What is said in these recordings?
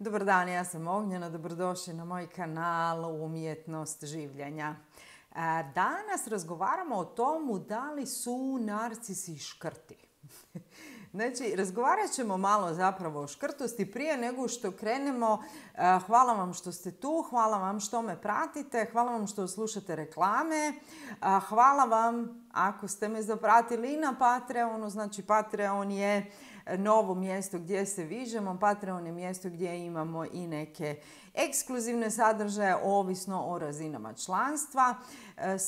Dobar dan, ja sam Ognjena, dobrodošli na moj kanal Umjetnost življenja. Danas razgovaramo o tomu da li su narcisi škrti. Znači, razgovarat ćemo malo zapravo o škrtosti. Prije nego što krenemo, hvala vam što ste tu, hvala vam što me pratite, hvala vam što slušate reklame, hvala vam ako ste me zapratili i na Patreonu. Znači, Patreon je novo mjesto gdje se viđemo. Patreon je mjesto gdje imamo i neke ekskluzivne sadržaje, ovisno o razinama članstva.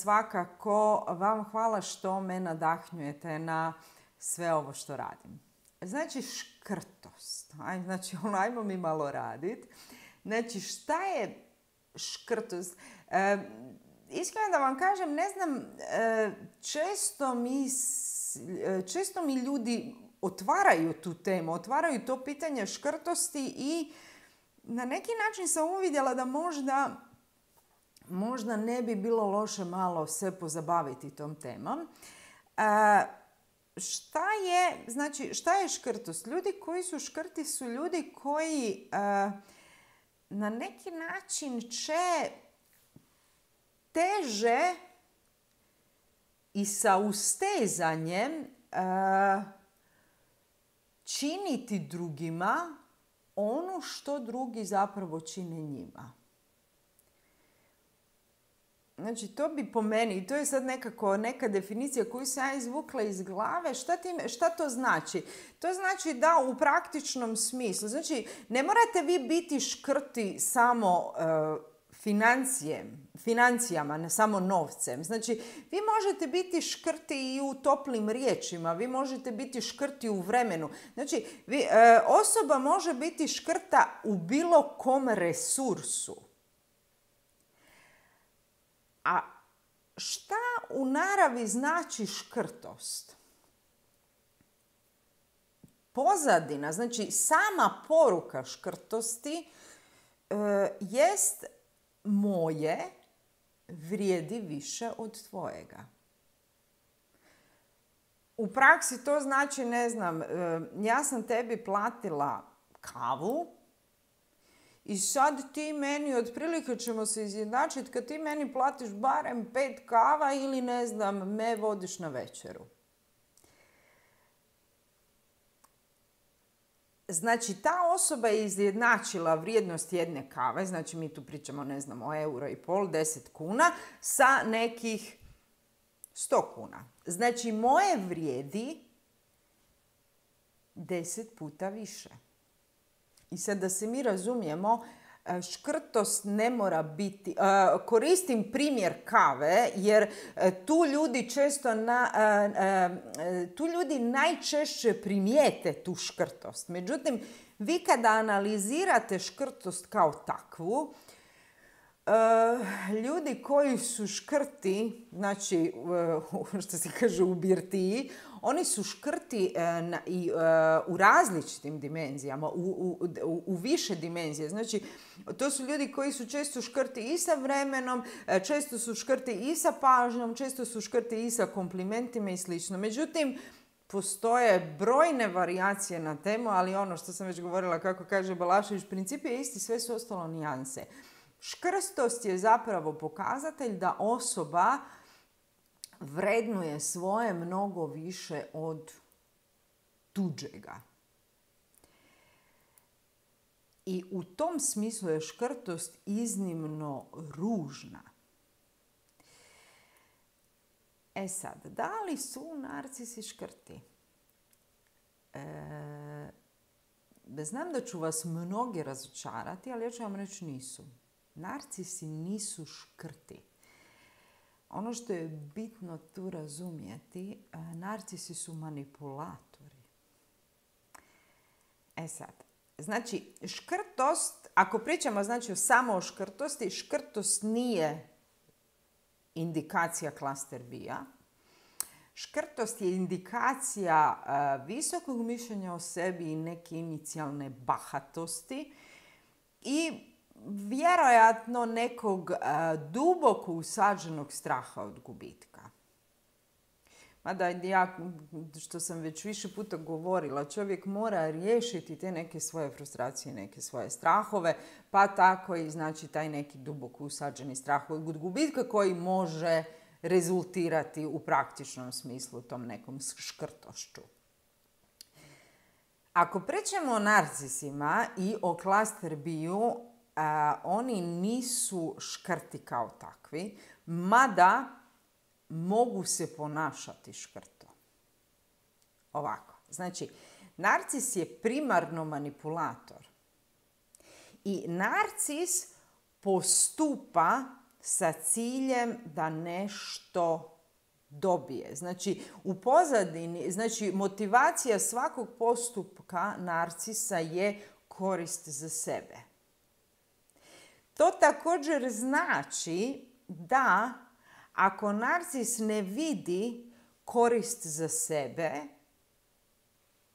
Svakako vam hvala što me nadahnjujete na sve ovo što radim. Znači, škrtost. Znači, ajmo mi malo raditi. Znači, šta je škrtost? Iskreno da vam kažem, ne znam, često mi ljudi otvaraju tu temu, otvaraju to pitanje škrtosti i na neki način sam uvidjela da možda ne bi bilo loše malo se pozabaviti tom temom. Šta je škrtost? Ljudi koji su škrti su ljudi koji na neki način će teže i sa ustezanjem činiti drugima ono što drugi zapravo čine njima. Znači, to bi po meni, i to je sad neka definicija koju sam ja izvukla iz glave. Šta to znači? To znači da u praktičnom smislu, znači, ne morate vi biti škrti samo financijama, ne samo novcem. Znači, vi možete biti škrti i u toplim riječima, vi možete biti škrti u vremenu. Znači, osoba može biti škrta u bilo kom resursu. A šta u naravi znači škrtost? Pozadina, znači sama poruka škrtosti jest moje vrijedi više od tvojega. U praksi to znači, ne znam, ja sam tebi platila kavu i sad ti meni, otprilike ćemo se izjednačiti kad ti meni platiš barem 5 kava ili, ne znam, me vodiš na večeru. Znači, ta osoba je izjednačila vrijednost jedne kave, znači mi tu pričamo, ne znam, o 1,5 €, 10 kuna, sa nekih 100 kuna. Znači, moje vrijedi 10 puta više. I sad da se mi razumijemo, škrtost ne mora biti... Koristim primjer kave jer tu ljudi najčešće primijete tu škrtost. Međutim, vi kada analizirate škrtost kao takvu, ljudi koji su škrti, znači, što se kaže u birtiji, oni su škrti u različitim dimenzijama, u više dimenzije. Znači, to su ljudi koji su često škrti i sa vremenom, često su škrti i sa pažnjom, često su škrti i sa komplimentima i sl. Međutim, postoje brojne varijacije na temu, ali ono što sam već govorila, kako kaže Balašević, princip je isti, sve su ostalo nijanse. Škrtost je zapravo pokazatelj da osoba vrednuje svoje mnogo više od tuđega. I u tom smislu je škrtost iznimno ružna. E sad, da li su narcisi škrti? Znam da ću vas mnogi razočarati, ali ja ću vam reći nisu. Narcisi nisu škrti. Ono što je bitno tu razumjeti, narcisi su manipulatori. E sad, znači, škrtost, ako pričamo znači samo o škrtosti, škrtost nije indikacija klaster B-a. Škrtost je indikacija visokog mišljenja o sebi i neke inicijalne bahatosti i vjerojatno nekog duboko usađenog straha od gubitka. Mada ja, što sam već više puta govorila, čovjek mora riješiti te neke svoje frustracije, neke svoje strahove, pa tako i znači taj neki duboko usađeni strah od gubitka koji može rezultirati u praktičnom smislu tom nekom škrtošću. Ako pričamo o narcisima i o klaster biju, oni nisu škrti kao takvi, mada mogu se ponašati škrto. Ovako, znači, narcis je primarno manipulator. I narcis postupa sa ciljem da nešto dobije. Znači, u pozadini, znači, motivacija svakog postupka narcisa je korist za sebe. To također znači da ako narcis ne vidi korist za sebe,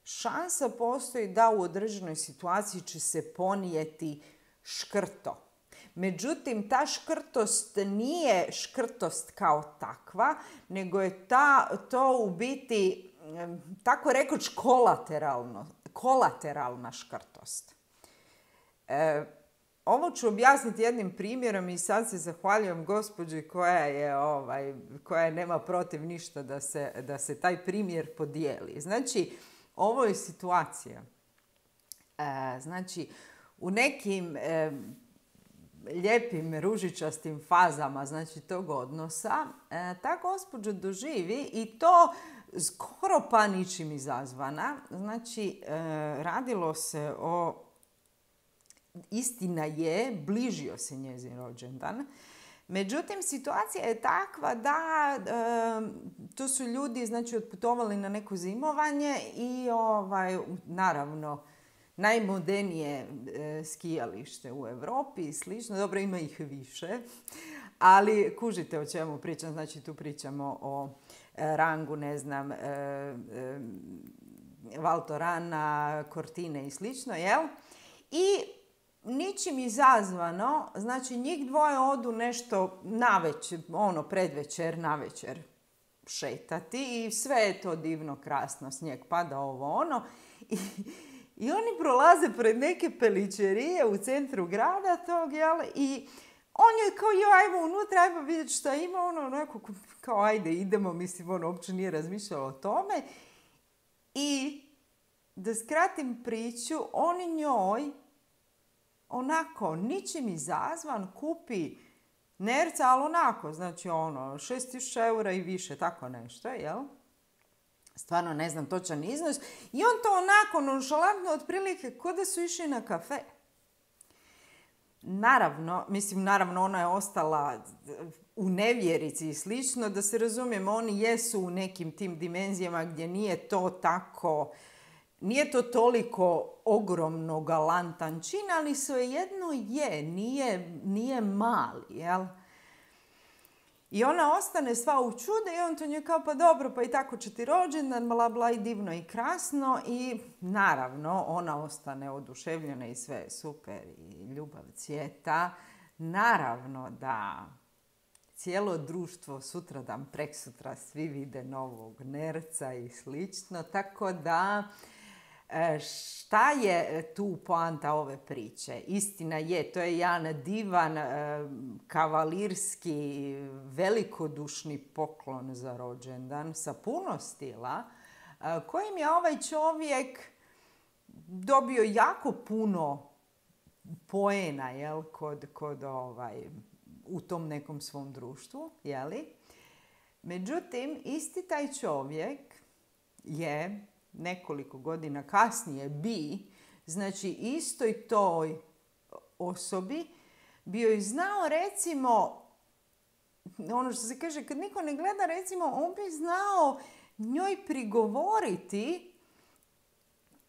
šansa postoji da u određenoj situaciji će se ponijeti škrto. Međutim, ta škrtost nije škrtost kao takva, nego je to u biti, tako rekoć, kolateralna škrtost. Ovo ću objasniti jednim primjerom i sad se zahvaljujem gospođi koja nema protiv ništa da se taj primjer podijeli. Znači, ovo je situacija. Znači, u nekim lijepim ružičastim fazama, znači, tog odnosa, ta gospođa doživi i to skoro pa ničim izazvana. Znači, radilo se o, istina je, bližio se njezin rođendan. Međutim, situacija je takva da tu su ljudi, znači, otputovali na neko zimovanje i naravno najmodernije skijalište u Europi i slično. Dobro, ima ih više, ali kužite o čemu pričam. Znači, tu pričamo o rangu, ne znam, Val Thorana, Cortine i slično, jel? I ničim izazvano, znači njih dvoje odu nešto navečer, predvečer, navečer šetati i sve je to divno, krasno, snijeg pada, I oni prolaze pred neke peličerije u centru grada tog, jel? I on je kao, ajmo unutra, ajmo vidjeti šta ima, onako, kao ajde, idemo, mislim, uopće nije razmišljalo o tome. I da skratim priču, on njoj onako, ničim izazvan, kupi nerca, ali onako, znači 6.000 eura i više, tako nešto, jel? Stvarno ne znam točan iznos. I on to onako nonšalantno otprilike ko da su išli na kafe. Naravno ona je ostala u nevjerici i slično, da se razumijemo, oni jesu u nekim tim dimenzijama gdje nije to toliko ogromno galantan čin, ali svejedno nije mali, jel? I ona ostane sva u čude i on to nje kao, pa dobro, pa i tako će ti rođendan, bla bla, i divno i krasno. I naravno ona ostane oduševljena i sve je super i ljubav cvjeta. Naravno da cijelo društvo sutradan, preksutra svi vide novog nerca i slično, tako da šta je tu poanta ove priče? Istina je, to je jedan divan, kavalirski, velikodušni poklon za rođendan sa puno stila, kojim je ovaj čovjek dobio jako puno poena, jel, u tom nekom svom društvu, jeli? Međutim, isti taj čovjek je nekoliko godina kasnije znači istoj toj osobi bio i znao, recimo, ono što se kaže, kad niko ne gleda, recimo, on bi znao njoj prigovoriti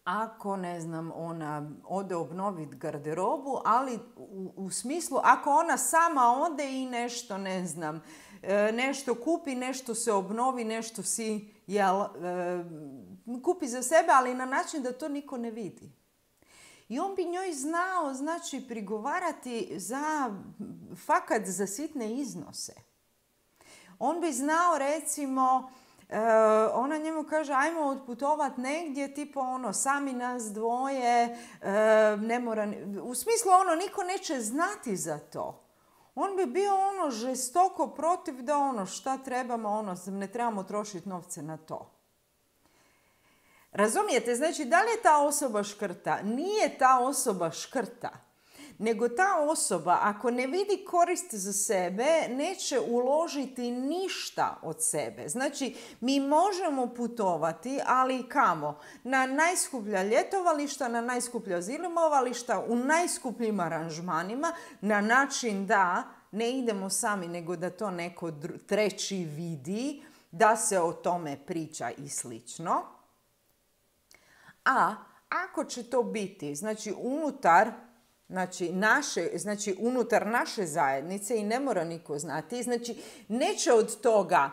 ako, ne znam, ona ode obnoviti garderobu, ali u smislu ako ona sama ode i nešto, ne znam, nešto kupi, nešto se obnovi, nešto si, kupi za sebe, ali na način da to niko ne vidi. I on bi njoj znao, znači, prigovarati fakat za sitne iznose. On bi znao, recimo, ona njemu kaže ajmo otputovat negdje, tipo ono, sami nas dvoje, ne mora, u smislu ono, niko neće znati za to. On bi bio ono žestoko protiv da ono šta trebamo, ono, ne trebamo trošiti novce na to. Razumijete? Znači, da li je ta osoba škrta? Nije ta osoba škrta. Nego ta osoba, ako ne vidi korist za sebe, neće uložiti ništa od sebe. Znači, mi možemo putovati, ali kamo? Na najskuplja ljetovališta, na najskuplja zimovališta, u najskupljim aranžmanima, na način da ne idemo sami, nego da to neko treći vidi, da se o tome priča i slično. A ako će to biti, znači unutar naše zajednice i ne mora niko znati, znači neće od toga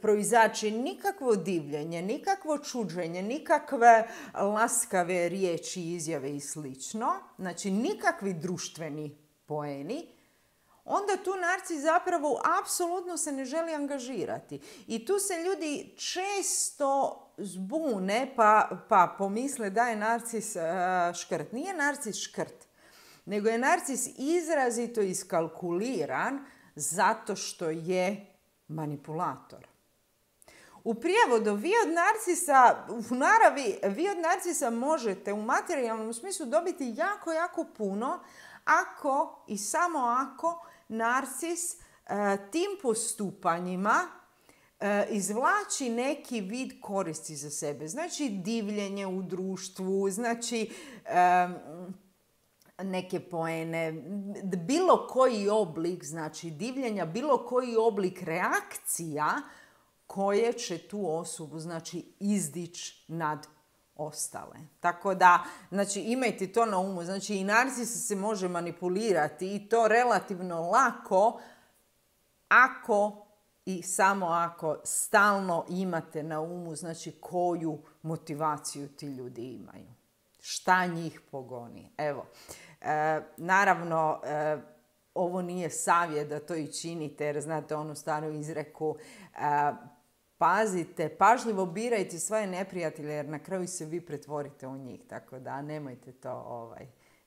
proizaći nikakvo divljenje, nikakvo čuđenje, nikakve laskave riječi, izjave i slično, znači nikakvi društveni poeni, onda tu narcis zapravo apsolutno se ne želi angažirati. I tu se ljudi često zbune pa pomisle da je narcis škrt. Nije narcis škrt, nego je narcis izrazito iskalkuliran zato što je manipulator. U prijevodu, u naravi, vi od narcisa možete u materijalnom smislu dobiti jako, jako puno ako i samo ako narcis tim postupanjima izvlači neki vid koristi za sebe. Znači divljenje u društvu, znači neke poene, bilo koji oblik, znači divljenja, bilo koji oblik reakcija koje će tu osobu, znači, izdići nad ostale. Tako da, znači, imajte to na umu. Znači, i narcis se može manipulirati i to relativno lako ako i samo ako stalno imate na umu, znači, koju motivaciju ti ljudi imaju. Šta njih pogoni. Evo, naravno, ovo nije savjet da to i činite, jer znate onu staru izreku, pazite, pažljivo birajte svoje neprijatelje, jer na kraju se vi pretvorite u njih. Tako da nemojte to,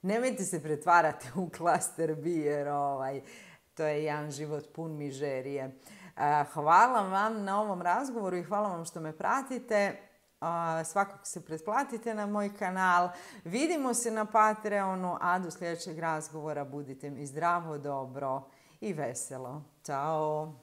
nemojte se pretvarati u klaster B, jer to je jedan život pun mižerije. Hvala vam na ovom razgovoru i hvala vam što me pratite. Svakako se pretplatite na moj kanal. Vidimo se na Patreonu, a do sljedećeg razgovora budite mi zdravo, dobro i veselo. Ćao!